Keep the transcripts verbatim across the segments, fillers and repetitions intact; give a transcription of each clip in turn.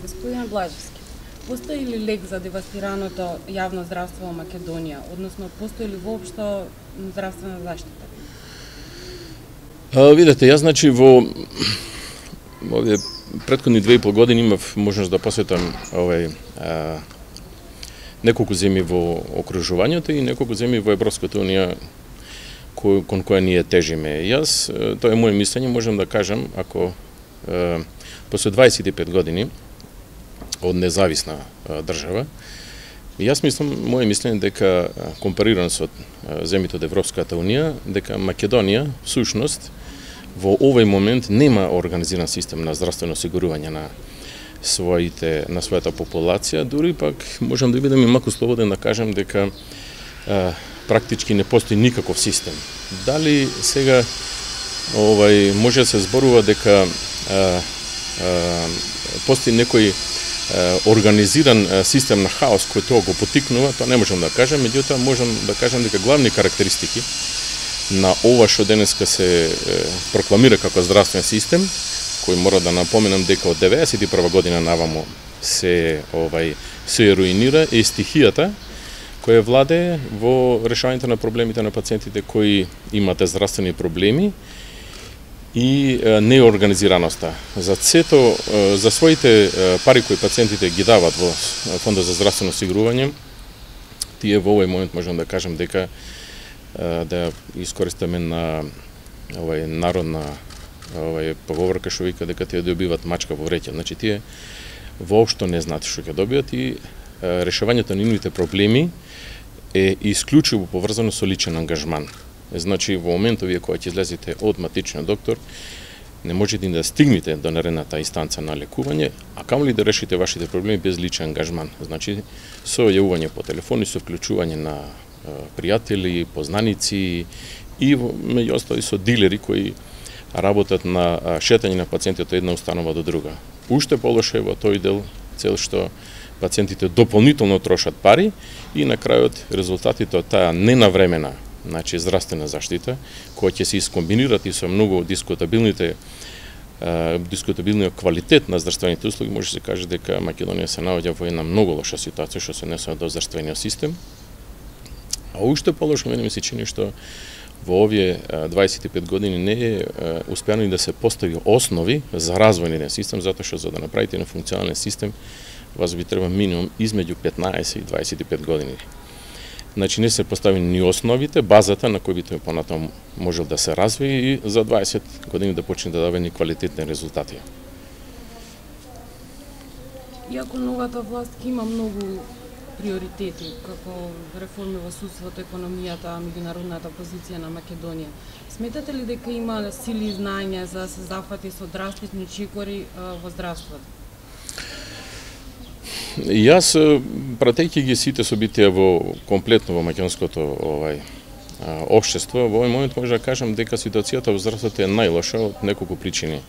Господин Блажевски, постои ли лек за девастираното јавно здравство во Македонија, односно постои ли воопшто здравствена заштита? А, видете, јас значи во овие претходни две и пол години имав можност да посетам овај а, неколку земји во окружувањето и неколку земји во Европската унија кој, кон која ние тежиме. Јас, тоа е моје мислење, можам да кажам, ако е, после дваесет и пет години од независна е, држава, јас мислам, моје мислење дека компарирано со земјите од Европската унија, дека Македонија всушност во овој момент нема организиран систем на здравствено осигурување на своите на својата популација, дури пак можам да бидам и малку слободен да кажам дека е, практички не постои никаков систем. Дали сега овај може да се зборува дека а, а, постои некој а, организиран а, систем на хаос кој тоа го потикнува, тоа не можам да кажам, меѓутоа можам да кажам дека главни карактеристики на ова што денеска се е, прокламира како здравствен систем, кој мора да напоменам дека од деветдесет и прва година наваму се овај се руинира, е стихијата која владее во решавањето на проблемите на пациентите кои имате здравствени проблеми и неорганизираноста. За сето, за своите пари кои пациентите ги дават во Фондот за здравствено осигурување, тие во овој момент можам да кажам дека да искористиме на овај народна овај поговорка што вика дека тие добиваат мачка во вреќа. Значи тие воопшто не знаат што ќе добијат и решавањето на нивните проблеми е исклучиво поврзано со личен ангажман. Значи, во моментот вие кога ќе излезете од матичниот доктор, не можете да стигнете до наредната инстанца на лекување, а камоли да решите вашите проблеми без личен ангажман. Значи, со јавување по телефони, со вклучување на е, пријатели, познаници и меѓу остали со дилери кои работат на шетање на пациентите од една установа до друга. Уште полоше во тој дел цел што пациентите дополнително трошат пари и на крајот резултатите од таа ненавремена, значи здравствена заштита, која ќе се искомбинират и со многу дискутабилните е, дискутабилниот квалитет на здравствените услуги, може да се каже дека Македонија се наоѓа во една многу лоша ситуација што се однесува до здравствениот систем. А уште полошо мене ми се чини што во овие дваесет и пет години не е успеано да се постави основи за развој на систем, затоа што за да направите на функционален систем вас би треба минимум измеѓу петнаесет и дваесет и пет години. Значи не се поставени ни основите, базата на кој би тој понатаму можел да се развие и за дваесет години да почне да дава ни квалитетни резултати. Иако новата власт има многу приоритети, како реформи во судството, економијата, меѓународната позиција на Македонија, сметате ли дека има сили и знаења за да се зафати со драстични чекори во здравството? Јас, пратејќи ги сите собитија во комплетно во македонското овај општество, во овој момент може да кажам дека ситуацијата во здравството е најлоша од неколку причини.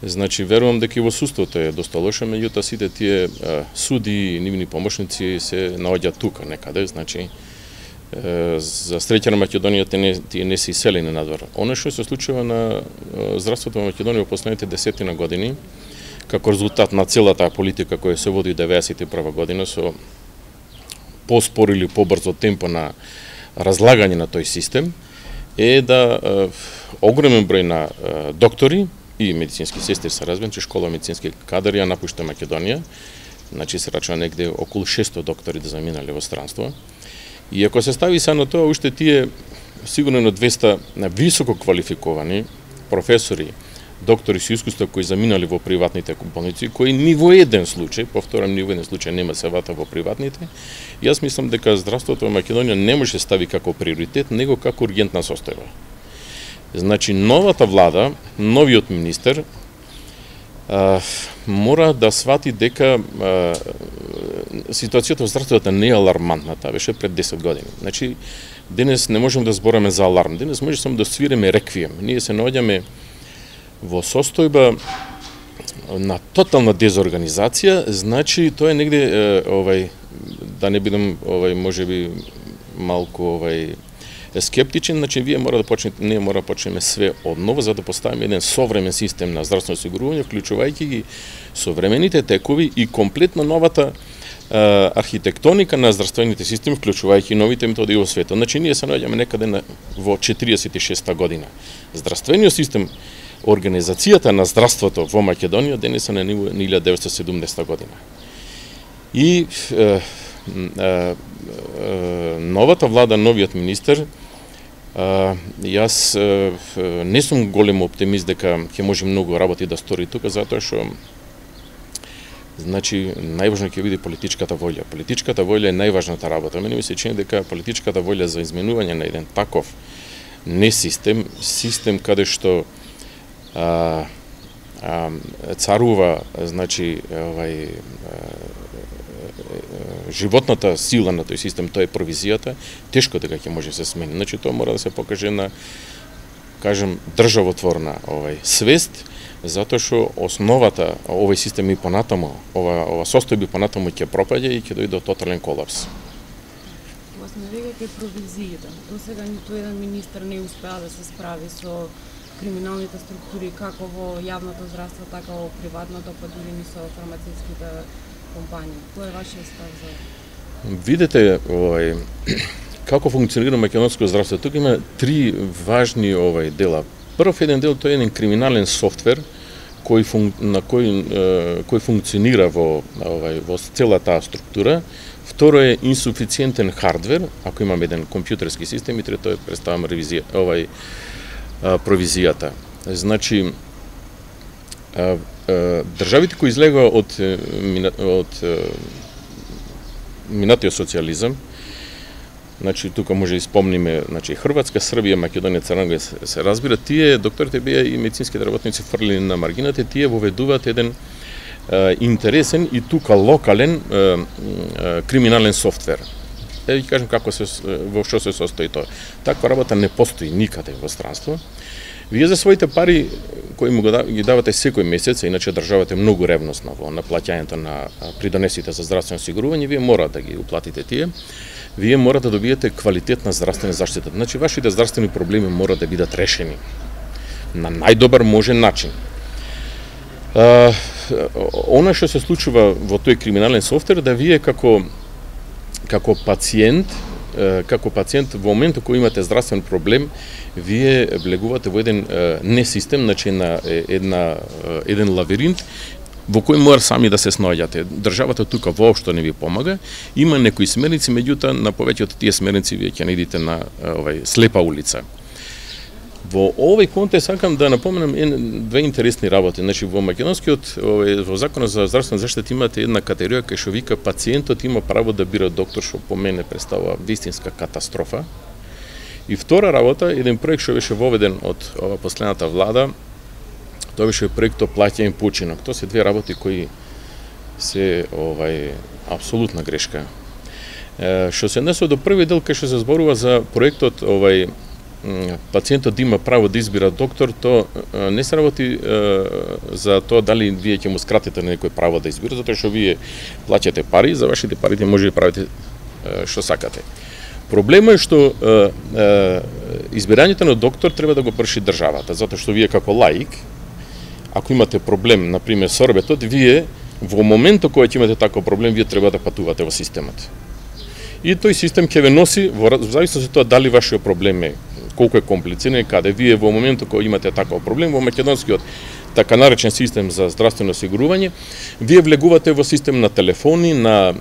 Значи, верувам дека и во судството е доста лоша, меѓутоа сите тие а, суди и нивни помошници се наоѓаат тука некаде, значи е, за среќа на Македонија тие не, тие не се иселени надвор. Оно што се случува на здравството во Македонија во последните десетина години, како резултат на целата политика која се води деветдесет и прва година со поспор или побрзо темпо на разлагање на тој систем, е да е, огромен број на е, доктори и медицински сестри се разбирам, че школа медицински кадар ја напушта Македонија, значи се рачува негде околу шестстотини доктори да заминале во странство. И ако се стави са на тоа, уште тие сигурно на двеста на високо квалификовани професори, доктори со искуство кои заминали во приватните болници, кои ни во еден случај, повторам, ни во еден случај нема се вата во приватните, јас мислам дека здравството во Македонија не може да стави како приоритет, него како ургентна состојба. Значи, новата влада, новиот министер, а, мора да свати дека а, ситуацијата во здравството не е алармантна, таа беше пред десет години. Значи, денес не можеме да збораме за аларм, денес може само да свиреме реквием. Ние се наоѓаме во состојба на тотална дезорганизација, значи тоа е негде е, овај да не бидам овај можеби малку овај скептичен, значи вие мора да почнете, не мора да почнеме све одново за да поставиме еден современ систем на здравствено осигурување, вклучувајќи ги современите текови и комплетно новата а, архитектоника на здравствените системи, вклучувајќи новите методи во светот. Значи ние се наоѓаме некаде на, во четиридесет и шеста година. Здравствениот систем, организацијата на здравството во Македонија денес е на ниво на илјада деветстотини и седумдесета година. И е, е, е, новата влада, новиот министер, е, јас е, не сум голем оптимист дека ќе може многу работи да стори тука, затоа што значи најважно ќе биде политичката волја. Политичката волја е најважната работа. Мене ми се чини дека политичката волја за изменување на еден таков не систем, систем каде што а, а, царува значи овај животната сила на тој систем, тоа е провизијата, тешко дека ќе може да се смени. Значи тоа мора да се покаже на, кажем, државотворна овај свест, затоа што основата овој систем и понатаму, ова ова состојба понатаму ќе пропаѓа и ќе дојде до тотален колапс. Вас не веќе провизијата. До сега ниту еден министер не успеа да се справи со криминалните структури како во јавното здравство, така во приватното, па дури и со фармацевтските компании. Кој е вашиот став за? Видете, овај како функционира македонско здравство. Тука има три важни овај дела. Прв еден дел тоа е еден криминален софтвер кој фун, на кој е, кој функционира во овај во цела таа структура. Второ е инсуфициентен хардвер, ако имаме еден компјутерски систем, и трето е представам ревизија, овај а, провизијата. Значи а, а, државите кои излегува од од минатиот социјализам, значи тука може да спомниме, значи Хрватска, Србија, Македонија, Црна Гора се, се разбира, тие докторите беа и медицинските работници фрлени на маргината, тие воведуваат еден Uh, интересен и тука локален uh, uh, криминален софтвер. Е, ќе кажем како се во што се состои тоа. Таква работа не постои никаде во странство. Вие за своите пари кои му ги давате секој месец, иначе државата е многу ревностна во наплаќањето на придонесите за здравствено осигурување, вие мора да ги уплатите тие. Вие мора да добиете квалитетна здравствена заштита. Значи вашите здравствени проблеми мора да бидат решени на најдобар можен начин. Uh, она што се случува во тој криминален софтвер, да вие како како пациент, uh, како пациент во моментот кој имате здравствен проблем, вие влегувате во еден uh, не систем, значи на една uh, еден лавиринт во кој мора сами да се снаоѓате. Државата тука воопшто не ви помага. Има некои смерници, меѓутоа на повеќето тие смерници вие ќе наидите на uh, овај слепа улица. Во овој контекст сакам да напоменам две интересни работи. Значи во македонскиот во законот за здравствена заштита имате една категорија кај што вика пациентот има право да бира доктор, што по мене представува вистинска катастрофа. И втора работа, еден проект што беше воведен од ова последната влада, тоа беше проектот плаќање починок. Тоа се две работи кои се овај апсолутна грешка. Е, што се однесува до први дел кај што се зборува за проектот овај пациентот има право да избира доктор, то не се работи е, за тоа дали вие ќе му скратите на некој право да избира, затоа што вие плаќате пари, за вашите парите може да правите е, што сакате. Проблемот е што е, е, избирањето на доктор треба да го врши државата, затоа што вие како лаик, ако имате проблем, например, со орбетот, вие во моментот кога ќе имате таков проблем, вие треба да патувате во системот. И тој систем ќе ве носи во зависност од тоа дали вашиот проблем е колку е комплициран и каде. Вие во моментот кога имате таков проблем во македонскиот така наречен систем за здравствено осигурување, вие влегувате во систем на телефони, на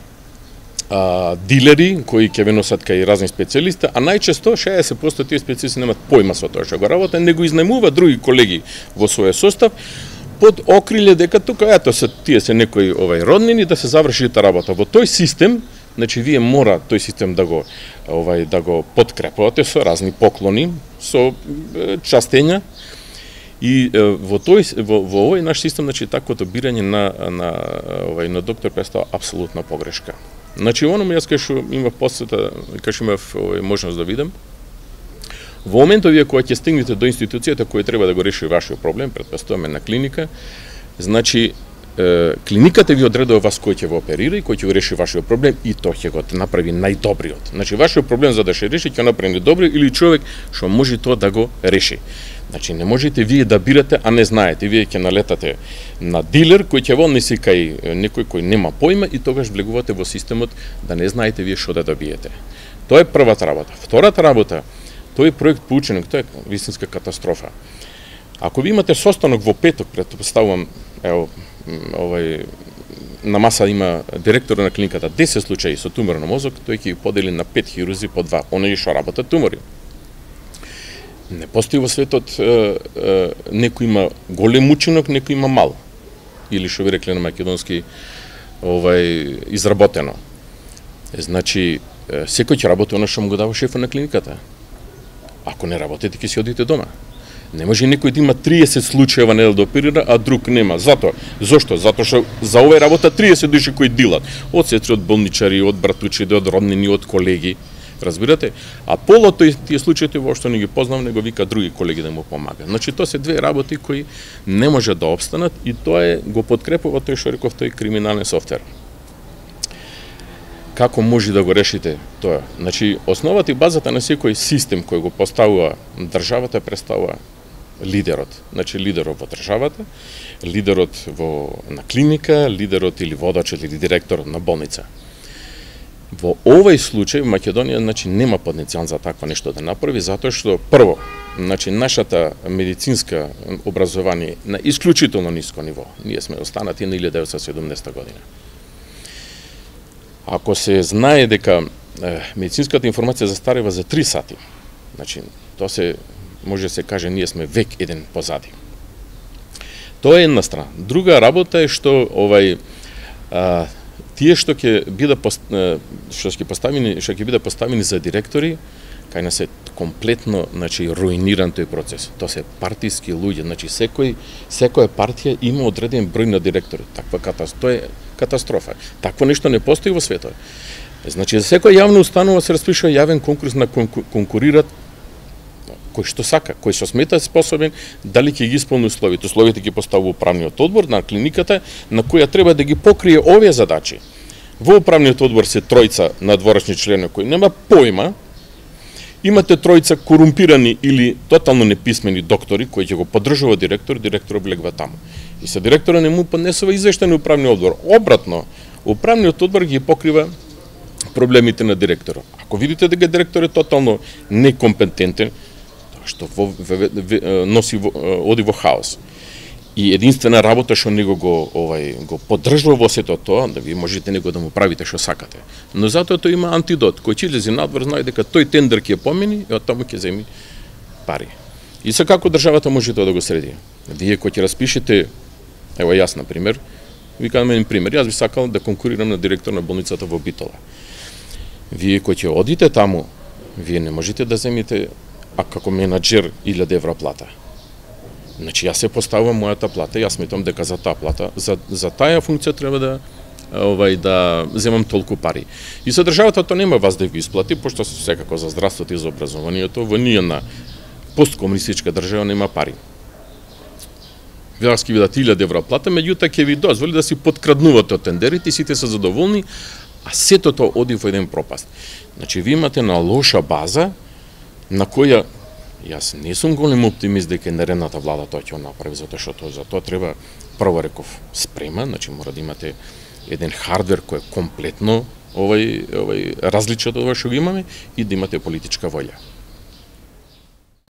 а, дилери кои ќе ве носат кај разни специјалисти, а најчесто шеесет проценти тие специјалисти немаат појма со тоа што го работат, него изнајмуваат други колеги во својот состав под окриле дека тука ето се тие се некои овај роднини да се заврши таа работа. Во тој систем, значи вие мора тој систем да го овај да го подкрепувате со разни поклони, со е, частења. И е, во тој во, во овој наш систем, значи таквото бирање на на овај на доктор представа апсолутна погрешка. Значи оно јас кај што имав посета, кај што имав овај можност да видам, во моментот вие кога ќе стигнете до институцијата која треба да го реши вашиот проблем, претпоставуваме на клиника, значи е, клиниката ви одредува вас кој ќе го оперира и кој ќе го реши вашиот проблем и тоа ќе го направи најдобриот. Значи вашиот проблем за да се реши ќе направи најдобри или човек што може тоа да го реши. Значи не можете вие да бирате, а не знаете. Вие ќе налетате на дилер кој ќе вон неси кај некој кој нема појма и тогаш влегувате во системот да не знаете вие што да добиете. Тоа е првата работа. Втората работа, тој проект по ученик, тоа е вистинска катастрофа. Ако ви имате состанок во петок, претпоставувам, ево, овај на маса има директор на клиниката десет случаи со тумор на мозок, тој ќе ги подели на пет хирузи по два, оние што работат тумори. Не постои во светот е, е, некој има голем учинок, некој има мал. Или што ви рекле на македонски овај изработено. Е, значи е, секој ќе работи оно што му го дава шефот на клиниката. Ако не работите, ќе си одите дома. Не може некој да има триесет случаи во недел да оперира, а друг нема. Зато, зошто? Затоа што за овој работа триесет души кои дилат. Од сестри, од болничари, од братучиди, од роднини, од колеги. Разбирате? А полото и тие случаите воопшто не ги познавам, него вика други колеги да му помагаат. Значи тоа се две работи кои не може да опстанат и тоа е го подкрепува тој што реков тој криминален софтвер. Како може да го решите тоа? Значи основата и базата на секој систем кој го поставува државата представува лидерот. Значи лидерот во државата, лидерот во на клиника, лидерот или водачот или директорот на болница. Во овој случај Македонија значи нема потенцијал за такво нешто да направи затоа што прво, значи нашата медицинска образование на исклучително ниско ниво. Ние сме останати на илјада деветстотини и седумдесета година. Ако се знае дека е, медицинската информација застарeva за три сати, значи тоа се може да се каже ние сме век еден позади. Тоа е една страна. Друга работа е што овај а, тие што ќе биде што ќе поставени што ќе биде поставени за директори, кај нас е комплетно, значи руиниран тој процес. Тоа се партиски луѓе, значи секој секоја партија има одреден број на директори. Таква катастрофа, тоа е катастрофа. Такво нешто не постои во светот. Значи за секоја јавна установа се распишува јавен конкурс на конкурират кој што сака, кој што смета способен, дали ќе ги исполни условите. Условите ги поставува управниот одбор на клиниката, на која треба да ги покрие овие задачи. Во управниот одбор се тројца надворешни члени кои нема појма, имате тројца корумпирани или тотално неписмени доктори кои ќе го поддржува директор, директорот влегва таму. И се директора не му поднесува извештај на управниот одбор. Обратно, управниот одбор ги покрива проблемите на директорот. Ако видите дека директор е тотално некомпетентен, што во, в, в, носи во, оди во хаос. И единствена работа што него го овај го поддржува во сето тоа, да ви можете него да му правите што сакате. Но затоа тој има антидот, кој ќе излезе надвор знае дека тој тендер ќе помени и од таму ќе земи пари. И се како државата може тоа да го среди? Вие кој ќе распишете, ево јас на пример, ви кажам еден пример, јас би сакал да конкурирам на директор на болницата во Битола. Вие кој ќе одите таму, вие не можете да земите а како менаџер илјада евра плата. Значи јас се поставувам мојата плата, јас сметам дека за таа плата, за за таа функција треба да овај да земам толку пари. И со државата тоа нема вас да ги исплати, пошто секако за здравството и за образованието во ние на посткомунистичка држава нема пари. Јас ќе ви дадат илјада евра плата, меѓутоа ќе ви дозволи да си подкраднувате од тендерите и сите се задоволни, а сето тоа оди во еден пропаст. Значи ви имате на лоша база на која јас не сум голем оптимист дека наредната влада тоа ќе го направи, затоа што тоа за тоа треба прво реков спрема, значи мора да имате еден хардвер кој е комплетно овај овај различен од ова што го имаме и да имате политичка волја.